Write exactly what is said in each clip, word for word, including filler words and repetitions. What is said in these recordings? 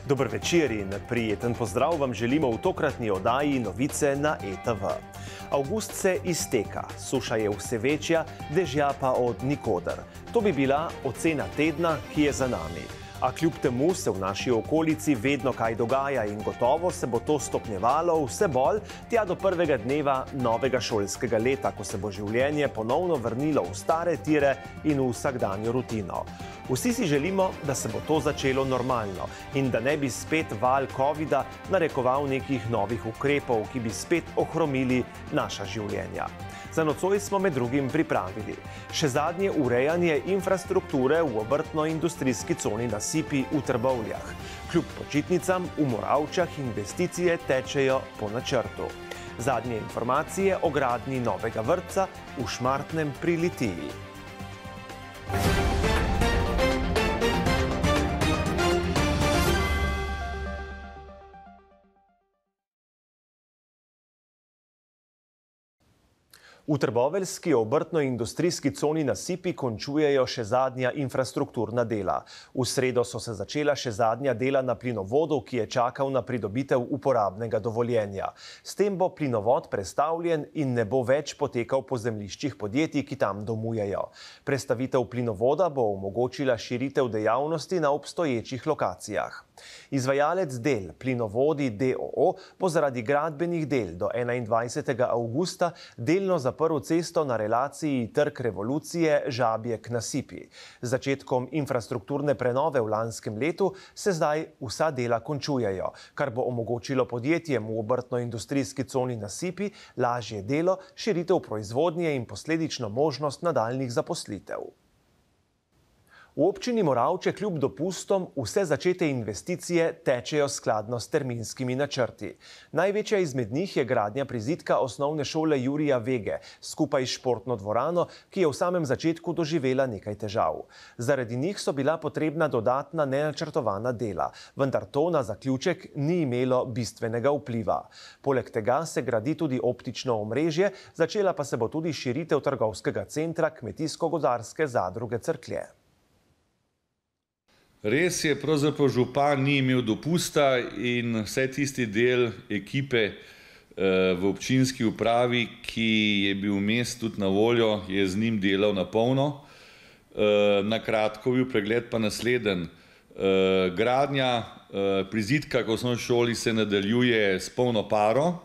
Dober večer in prijeten pozdrav vam želimo v tokratni oddaji Novice na E T V. Avgust se izteka, suša je vse večja, dežja pa od nikoder. To bi bila ocena tedna, ki je za nami. A kljub temu se v naši okolici vedno kaj dogaja in gotovo se bo to stopnjevalo vse bolj tja do prvega dneva novega šolskega leta, ko se bo življenje ponovno vrnilo v stare tire in v vsakdanjo rutino. Vsi si želimo, da se bo to začelo normalno in da ne bi spet val covida narekoval nekih novih ukrepov, ki bi spet ohromili naša življenja. Za nocoj smo med drugim pripravili še zadnje urejanje infrastrukture v obrtno-industrijski coni na Sipi v Trbovljah. Kljub počitnicam v Moravčah investicije tečejo po načrtu. Zadnje informacije o gradnji novega vrtca v Šmartnem pri Litiji. V trboveljski obrtno-industrijski coni na Sipi končujejo še zadnja infrastrukturna dela. V sredo so se začela še zadnja dela na plinovodu, ki je čakal na pridobitev uporabnega dovoljenja. S tem bo plinovod prestavljen in ne bo več potekal po zemljiščih podjetij, ki tam domujejo. Prestavitev plinovoda bo omogočila širitev dejavnosti na obstoječih lokacijah. Izvajalec del Plinovodi D O O bo zaradi gradbenih del do enaindvajsetega avgusta delno zaprl cesto na relaciji Trg Revolucije Žabjek na Sipi. Z začetkom infrastrukturne prenove v lanskem letu se zdaj vsa dela končujejo, kar bo omogočilo podjetjem v obrtno-industrijski coni na Sipi lažje delo, širitev proizvodnje in posledično možnost nadaljnjih zaposlitev. V občini Moravče kljub dopustom vse začete investicije tečejo skladno s terminskimi načrti. Največja izmed njih je gradnja prizidka osnovne šole Jurija Vege, skupaj s športno dvorano, ki je v samem začetku doživela nekaj težav. Zaradi njih so bila potrebna dodatna nenačrtovana dela, vendar to na zaključek ni imelo bistvenega vpliva. Poleg tega se gradi tudi optično omrežje, začela pa se bo tudi širitev trgovskega centra Kmetijsko-gozdarske zadruge Cerklje. Res je, pravzaprav župan ni imel dopusta in vse tisti del ekipe v občinski upravi, ki je bil vmes tudi na voljo, je z njim delal na polno. Na kratko bil pregled pa nasleden. Gradnja prizidka k osnovni šoli se nadaljuje s polno paro.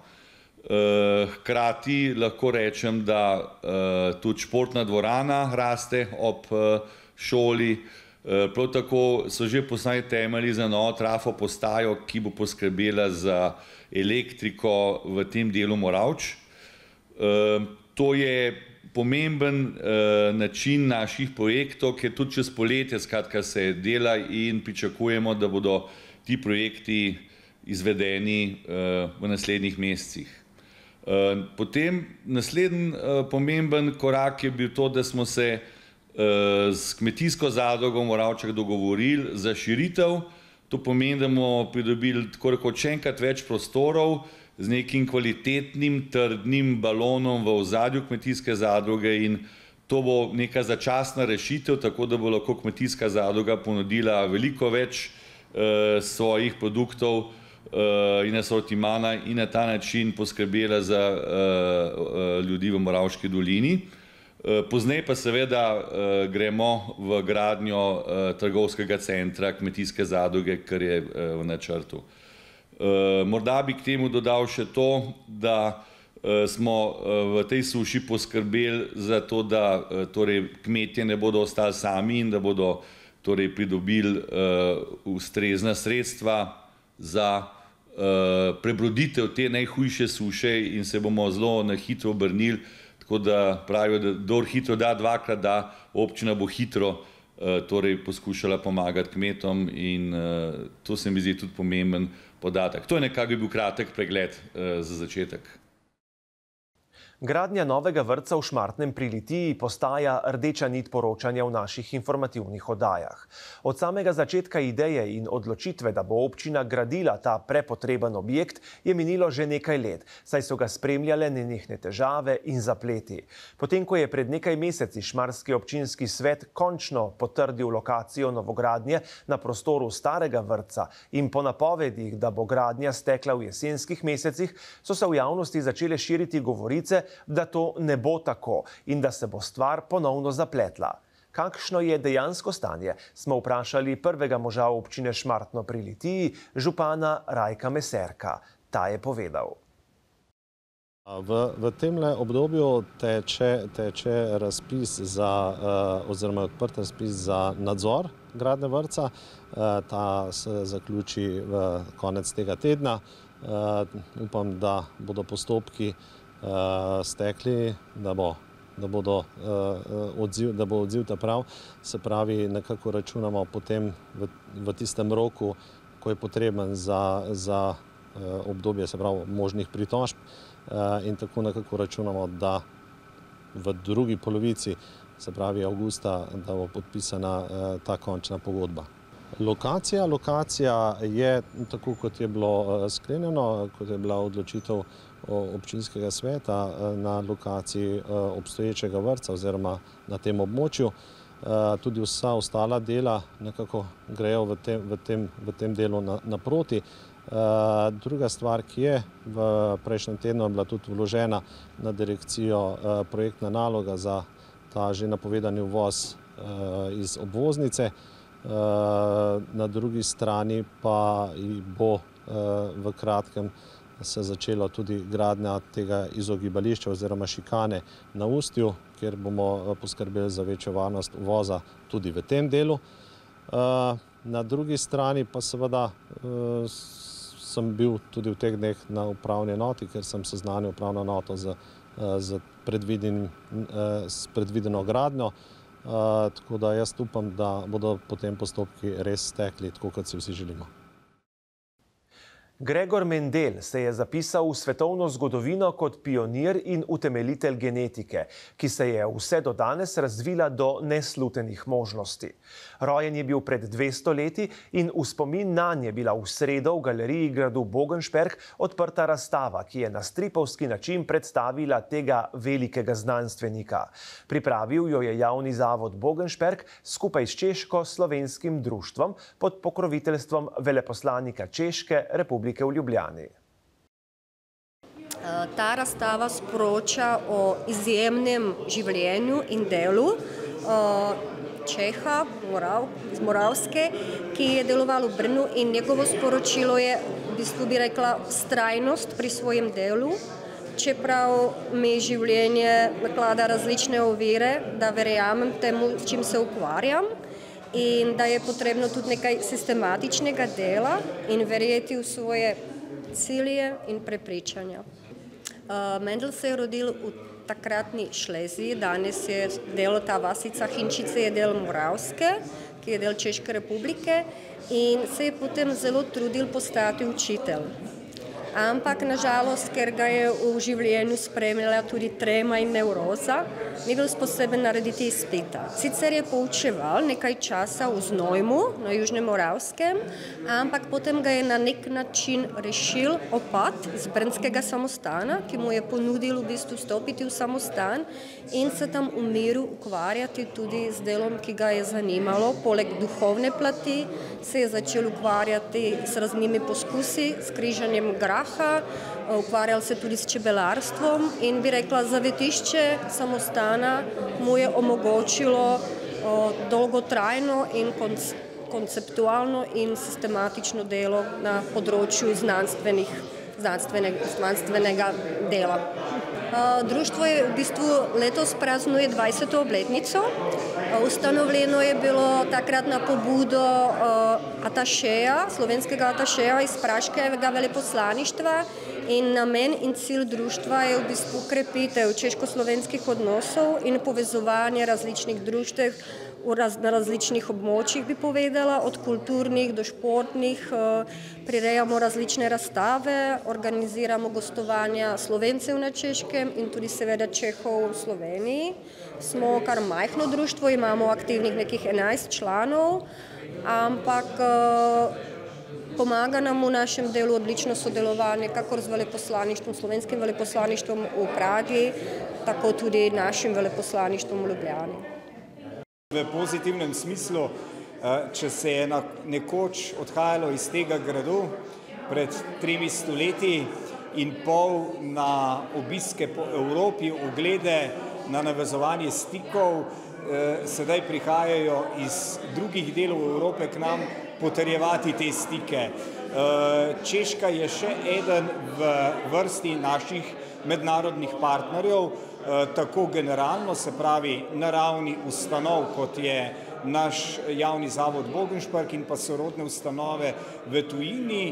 Hkrati lahko rečem, da tudi športna dvorana raste ob šoli. Prav tako so že postavljeni temelji za novo trafo postajo, ki bo poskrbela za elektriko v tem delu Moravč. To je pomemben način naših projektov, ker tudi čez poletje skratka se dela in pričakujemo, da bodo ti projekti izvedeni v naslednjih mesecih. Potem naslednji pomemben korak je bil to, da smo se s kmetijsko zadrugo v Moravčah dogovorili za širitev. To pomeni, da bomo pridobili tako rekoč še enkrat več prostorov z nekim kvalitetnim, trdnim balonom v ozadju kmetijske zadruge in to bo neka začasna rešitev, tako da bo lahko kmetijska zadruga ponudila veliko več svojih produktov in asortimana in na ta način poskrbela za ljudi v Moravški dolini. Pozneje pa seveda gremo v gradnjo trgovskega centra kmetijske zadruge, kar je v načrtu. Morda bi k temu dodal še to, da smo v tej suši poskrbeli za to, da kmetje ne bodo ostali sami in da bodo pridobili ustrezna sredstva za prebroditev te najhujše suše in se bomo zelo na hitro obrnili. Tako da pravijo, da kdor hitro da, dvakrat da, občina bo hitro poskušala pomagati kmetom in to se mi zdi tudi pomemben podatek. To je nekako bil kratek pregled za začetek. Gradnja novega vrtca v Šmartnem pri Litiji postaja rdeča nit poročanja v naših informativnih oddajah. Od samega začetka ideje in odločitve, da bo občina gradila ta prepotreben objekt, je minilo že nekaj let, saj so ga spremljale nenehne težave in zapleti. Potem, ko je pred nekaj meseci Šmarski občinski svet končno potrdil lokacijo novogradnje na prostoru starega vrtca in po napovedih, da bo gradnja stekla v jesenskih mesecih, so se v javnosti začele širiti govorice, da to ne bo tako in da se bo stvar ponovno zapletla. Kakšno je dejansko stanje, smo vprašali prvega moža občine Šmartno pri Litiji, župana Rajka Meserka. Ta je povedal. V, v temle obdobju teče, teče razpis za, uh, oziroma odprt razpis za nadzor gradnje vrtca. Uh, ta se zaključi v konec tega tedna. Uh, upam, da bodo postopki uh, stekli, da bo, da, bodo, uh, odziv, da bo odziv ta prav. Se pravi, nekako računamo potem v, v tistem roku, ko je potreben za, za uh, obdobje, se pravi, možnih pritožb. In tako nekako računamo, da v drugi polovici, se pravi avgusta, da bo podpisana ta končna pogodba. Lokacija, lokacija je tako, kot je bilo sklenjeno, kot je bila odločitev občinskega sveta na lokaciji obstoječega vrtca oziroma na tem območju. Tudi vsa ostala dela nekako grejo v tem, v tem, v tem delu naproti. Uh, druga stvar, ki je v prejšnjem tednu je bila tudi vložena na direkcijo uh, projektna naloga za ta že napovedani uvoz uh, iz obvoznice. Uh, na drugi strani pa bo uh, v kratkem se začela tudi gradnja tega izogibališča oziroma šikane na Ustju, kjer bomo poskrbeli za večjo varnost uvoza tudi v tem delu. Uh, na drugi strani pa seveda uh, sem bil tudi v teh dneh na upravni enoti, ker sem seznanil upravno enoto z, z, z predvideno gradnjo. Tako da jaz upam, da bodo potem postopki res stekli, tako kot si vsi želimo. Gregor Mendel se je zapisal v svetovno zgodovino kot pionir in utemeljitelj genetike, ki se je vse do danes razvila do neslutenih možnosti. Rojen je bil pred dvesto leti in v spomin nanj je bila v sredo v galeriji gradu Bogenšperk odprta razstava, ki je na stripovski način predstavila tega velikega znanstvenika. Pripravil jo je javni zavod Bogenšperk skupaj s češko-slovenskim društvom pod pokroviteljstvom veleposlanika Češke republike v Ljubljani. Ta razstava sporoča o izjemnem življenju in delu Čeha iz Moravske, ki je deloval v Brnu, in njegovo sporočilo je, v bistvu bi rekla, vztrajnost pri svojem delu. Čeprav mi življenje naklada različne ovire, da verjamem temu, s čim se ukvarjam, in da je potrebno tudi nekaj sistematičnega dela in verjeti v svoje cilje in prepričanja. Mendel se je rodil v takratni Šleziji, danes je del ta vasica Hinčice, je del Moravske, ki je del Češke republike, in se je potem zelo trudil postati učitelj. Ampak, nažalost, ker ga je v življenju spremljala tudi trema in nevroza, ni bil sposoben narediti izpita. Sicer je poučeval nekaj časa v Znojmu, na Južnem Moravskem, ampak potem ga je na nek način rešil opat iz brnskega samostana, ki mu je ponudil v bistvu vstopiti v samostan in se tam v miru ukvarjati tudi z delom, ki ga je zanimalo. Poleg duhovne plati se je začel ukvarjati s raznimi poskusi, s križanjem graha, ukvarjal se tudi s čebelarstvom in bi rekla, zavetišče samostana mu je omogočilo dolgotrajno in konceptualno in sistematično delo na področju znanstvenih, znanstvenega, znanstvenega dela. Društvo je v bistvu letos praznuje dvajseto obletnico. Ustanovljeno je bilo takrat na pobudo atašeja, slovenskega atašeja iz praškega veleposlaništva In namen in cilj društva je v bistvu krepitev češko-slovenskih odnosov in povezovanje različnih društev na različnih območjih, bi povedala, od kulturnih do športnih. Prirejamo različne razstave, organiziramo gostovanja Slovencev na Češkem in tudi seveda Čehov v Sloveniji. Smo kar majhno društvo, imamo aktivnih nekih enajst članov, ampak pomaga nam v našem delu odlično sodelovanje, kakor z veleposlaništvom, slovenskim veleposlaništvom v Pragi, tako tudi našim veleposlaništvom v Ljubljani. V pozitivnem smislu, če se je nekoč odhajalo iz tega gradu pred tremi stoletji in pol na obiske po Evropi, oglede, na navezovanje stikov, sedaj prihajajo iz drugih delov Evrope k nam potrjevati te stike. Češka je še eden v vrsti naših mednarodnih partnerjev, tako generalno, se pravi na ravni ustanov, kot je naš javni zavod Bogenšpark in pa sorodne ustanove v tujini.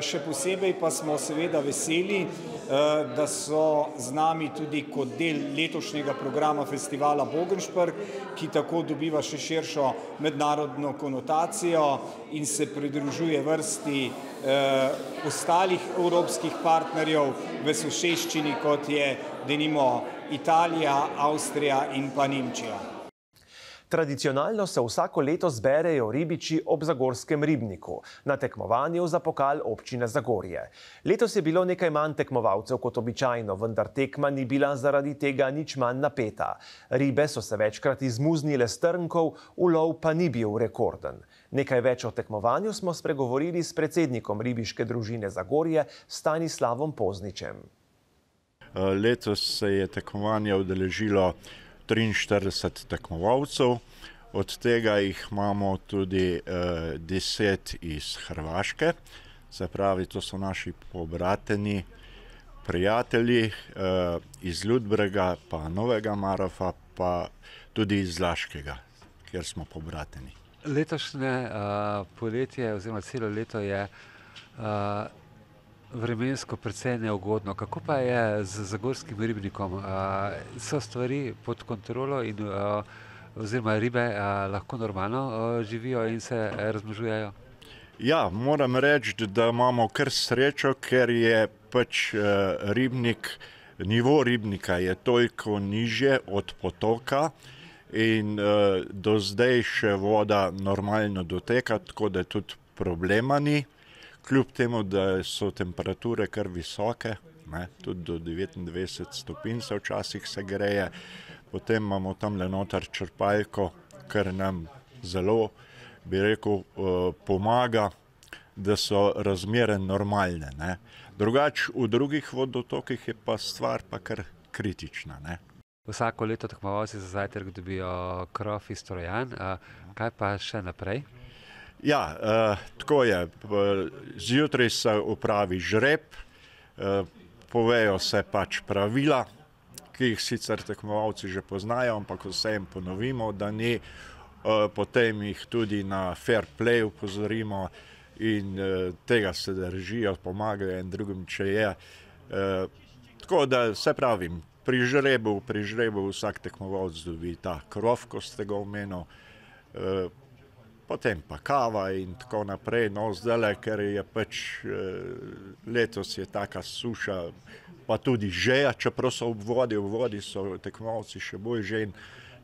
Še posebej pa smo seveda veseli, da so z nami tudi kot del letošnjega programa festivala Bogenšpark, ki tako dobiva še širšo mednarodno konotacijo in se pridružuje vrsti ostalih evropskih partnerjev v soseščini, kot je denimo Italija, Avstrija in pa Nemčija. Tradicionalno se vsako leto zberejo ribiči ob zagorskem ribniku na tekmovanju za pokal občine Zagorje. Letos je bilo nekaj manj tekmovalcev kot običajno, vendar tekma ni bila zaradi tega nič manj napeta. Ribe so se večkrat izmuznile s trnkov, ulov pa ni bil rekorden. Nekaj več o tekmovanju smo spregovorili s predsednikom ribiške družine Zagorje, Stanislavom Pozničem. Letos se je tekmovanje udeležilo triinštirideset tekmovalcev, od tega jih imamo tudi eh, deset iz Hrvaške, se pravi, to so naši pobrateni, prijatelji eh, iz Ludbrega, pa Novega Marofa, pa tudi iz Laškega, kjer smo pobrateni. Letošnje uh, poletje oziroma celo leto je uh, vremensko precej neugodno. Kako pa je z zagorskim ribnikom? So stvari pod kontrolo in oziroma ribe lahko normalno živijo in se razmnožujejo? Ja, moram reči, da imamo kar srečo, ker je pač ribnik, nivo ribnika je toliko nižje od potoka in do zdaj še voda normalno doteka, tako da tudi problema ni. Kljub temu, da so temperature kar visoke, ne, tudi do devetindvajset stopinj se včasih se greje, potem imamo tam le noter črpalko, kar nam zelo, bi rekel, pomaga, da so razmere normalne. Ne. Drugač, v drugih vodotokih je pa stvar pa kar kritična. Ne. Vsako leto tekmovalci za zajtrk dobijo krof iz Trojan, kaj pa še naprej? Ja, eh, tako je. Zjutraj se opravi žreb, eh, povejo se pač pravila, ki jih sicer tekmovalci že poznajo, ampak vse jim ponovimo, da ni, eh, potem jih tudi na fair play upozorimo in eh, tega se držijo, pomagajo in drugim, če je. Eh, tako da se pravim, pri žrebu, pri žrebu vsak tekmovalc dobi ta krof, ko ste ga omenil, eh, potem pa kava in tako naprej. No, zdaj, ker je pač letos je taka suša, pa tudi žeja, čeprav so ob vodi, v vodi so tekmovalci še bolj žejni,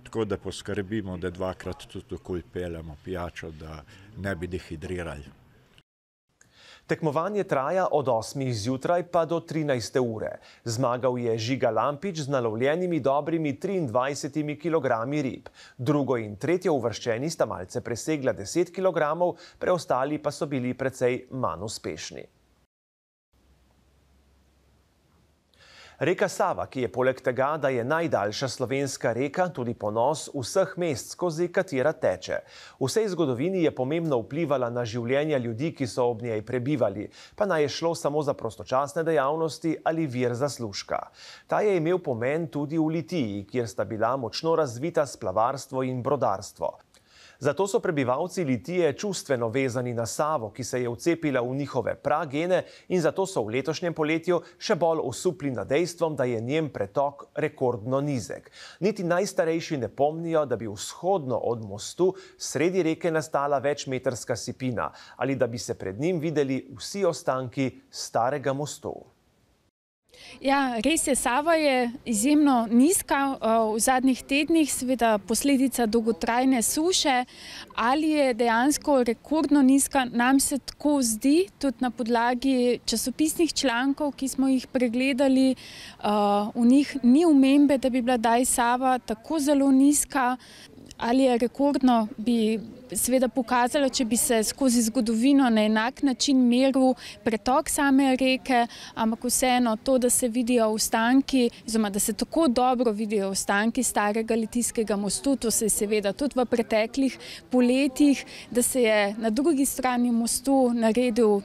tako da poskrbimo, da dvakrat tudi okoli peljemo pijačo, da ne bi dehidrirali. Tekmovanje traja od osmih zjutraj pa do trinajste ure. Zmagal je Žiga Lampič z nalovljenimi dobrimi triindvajsetimi kilogrami rib. Drugo in tretje uvrščeni sta malce presegla deset kilogramov, preostali pa so bili precej manj uspešni. Reka Sava, ki je poleg tega, da je najdaljša slovenska reka, tudi ponos vseh mest, skozi katera teče. V vsej zgodovini je pomembno vplivala na življenja ljudi, ki so ob njej prebivali, pa naj je šlo samo za prostočasne dejavnosti ali vir zaslužka. Ta je imel pomen tudi v Litiji, kjer sta bila močno razvita splavarstvo in brodarstvo. Zato so prebivalci Litije čustveno vezani na Savo, ki se je vcepila v njihove pragene, in zato so v letošnjem poletju še bolj osupli nad dejstvom, da je njen pretok rekordno nizek. Niti najstarejši ne pomnijo, da bi vzhodno od mostu sredi reke nastala večmetrska sipina ali da bi se pred njim videli vsi ostanki starega mostu. Ja, res je, Sava je izjemno nizka v zadnjih tednih, seveda posledica dolgotrajne suše. Ali je dejansko rekordno nizka, nam se tako zdi, tudi na podlagi časopisnih člankov, ki smo jih pregledali. V njih ni omembe, da bi bila daj Sava tako zelo nizka. Ali je rekordno, bi seveda pokazalo, če bi se skozi zgodovino na enak način meril pretok same reke, ampak vseeno to, da se vidijo ostanki, oziroma da se tako dobro vidijo ostanki starega litijskega mostu, to se je seveda tudi v preteklih poletjih, da se je na drugi strani mostu naredil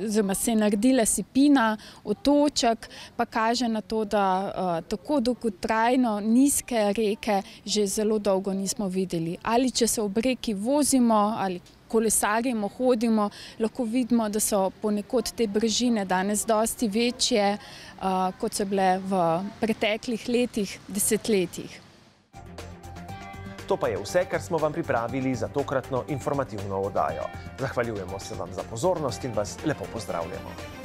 oziroma se je naredila sipina, otoček, pa kaže na to, da uh, tako dolgotrajno nizke reke že zelo dolgo nismo videli. Ali če se ob reki vozimo ali kolesarimo, hodimo, lahko vidimo, da so ponekod te brežine danes dosti večje, uh, kot so bile v preteklih letih, desetletjih. To pa je vse, kar smo vam pripravili za tokratno informativno oddajo. Zahvaljujemo se vam za pozornost in vas lepo pozdravljamo.